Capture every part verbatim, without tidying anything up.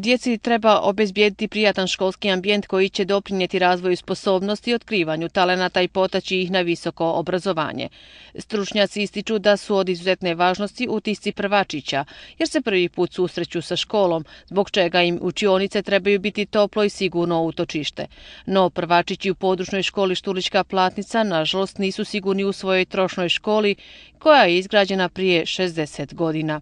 Djeci treba obezbijediti prijatan školski ambijent koji će doprinijeti razvoju sposobnosti i otkrivanju talenata i potaći ih na visoko obrazovanje. Stručnjaci ističu da su od izuzetne važnosti utisci prvačića, jer se prvi put susreću sa školom, zbog čega im učionice trebaju biti toplo i sigurno utočište. No prvačići u područnoj školi Štulićka Platnica nažalost nisu sigurni u svojoj trošnoj školi koja je izgrađena prije šezdeset godina.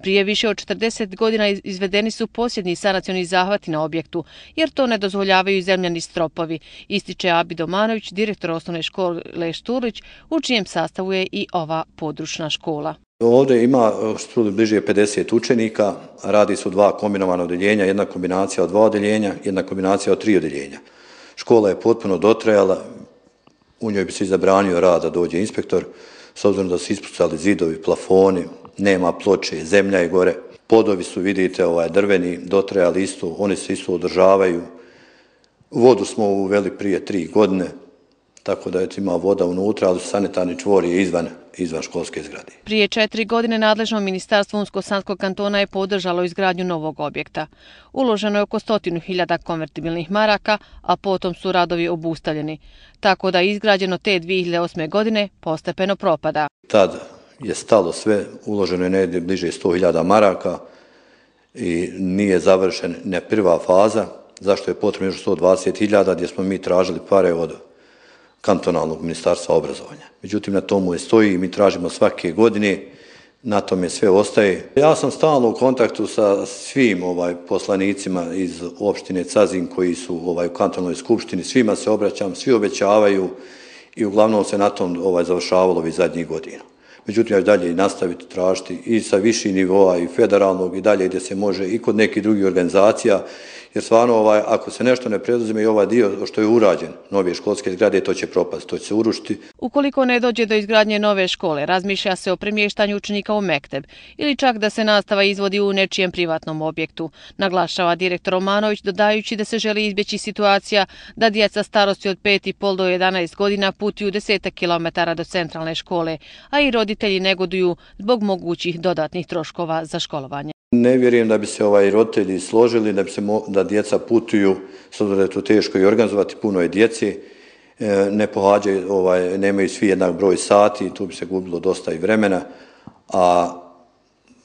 Prije više od četrdeset godina izvedeni su posljednji sanacioni zahvati na objektu, jer to ne dozvoljavaju zemljani stropovi, ističe Abi Domanović, direktor osnovne škole Štulić, u čijem sastavu je i ova područna škola. Ovdje ima Štulić bliže pedeset učenika, radi su dva kombinovana odeljenja, jedna kombinacija od dva odeljenja, jedna kombinacija od tri odeljenja. Škola je potpuno dotrajala, u njoj bi se zabranio rad da dođe inspektor, s obzirom da su ispucali zidovi, plafoni, nema ploče, zemlja je gore. Podovi su, vidite, ovaj, drveni, dotrajali isto, oni se isto održavaju. Vodu smo uveli prije tri godine, tako da ima voda unutra, ali sanitarni čvor je izvan, izvan školske zgrade. Prije četiri godine nadležno ministarstvo Unsko-Sanskog kantona je podržalo izgradnju novog objekta. Uloženo je oko stotinu hiljada konvertibilnih maraka, a potom su radovi obustavljeni, tako da izgrađeno te dvije hiljade osme godine postepeno propada. Tad je stalo sve, uloženo je negdje bliže sto hiljada maraka i nije završen ne prva faza, zašto je potrebno još sto dvadeset hiljada gdje smo mi tražili pare od kantonalnog ministarstva obrazovanja. Međutim, na tomu je stoji i mi tražimo svake godine, na tome sve ostaje. Ja sam stalno u kontaktu sa svim ovaj, poslanicima iz opštine Cazin koji su ovaj, u kantonalnoj skupštini, svima se obraćam, svi obećavaju i uglavnom se na tom ovaj, završavalo ovih zadnjih godina. Međutim, ja ću dalje i nastaviti tražiti i sa viših nivoa i federalnog i dalje gdje se može i kod nekih drugih organizacija, jer stvarno ovaj, ako se nešto ne preduzme i ovaj dio što je urađen, nove školske zgrade, to će propasti, to će se urušiti. Ukoliko ne dođe do izgradnje nove škole, razmišlja se o premještanju učenika u mekteb ili čak da se nastava izvodi u nečijem privatnom objektu, naglašava direktor Romanović, dodajući da se želi izbjeći situacija da djeca starosti od pet i pol do jedanaest godina putuju desetak kilometara do centralne škole, a i roditelji negoduju zbog mogućih dodatnih troškova za školovanje. Ne vjerujem da bi se ovaj roditelji složili, da bi se mo, da djeca putuju, s obzirom da je to teško i organizovati, puno je djece, ne pohađaju, ovaj, nemaju svi jednak broj sati, tu bi se gubilo dosta i vremena, a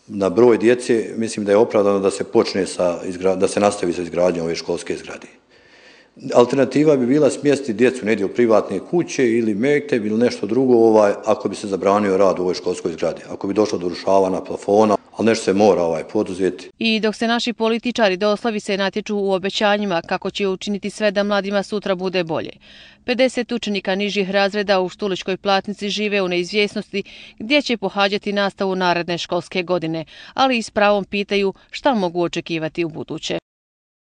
na broj djece mislim da je opravdano da se počne sa, da se nastavi sa izgradnjom ove školske zgrade. Alternativa bi bila smjestiti djecu negdje u privatne kuće ili mekteb ili nešto drugo, ovaj, ako bi se zabranio rad u ovoj školskoj zgradi, ako bi došlo do urušavanja plafona, ali nešto se mora ovaj, poduzeti. I dok se naši političari doslovi se natječu u obećanjima kako će učiniti sve da mladima sutra bude bolje. pedeset učenika nižih razreda u Štulićkoj Platnici žive u neizvjesnosti gdje će pohađati nastavu naredne školske godine, ali i s pravom pitaju šta mogu očekivati u buduće.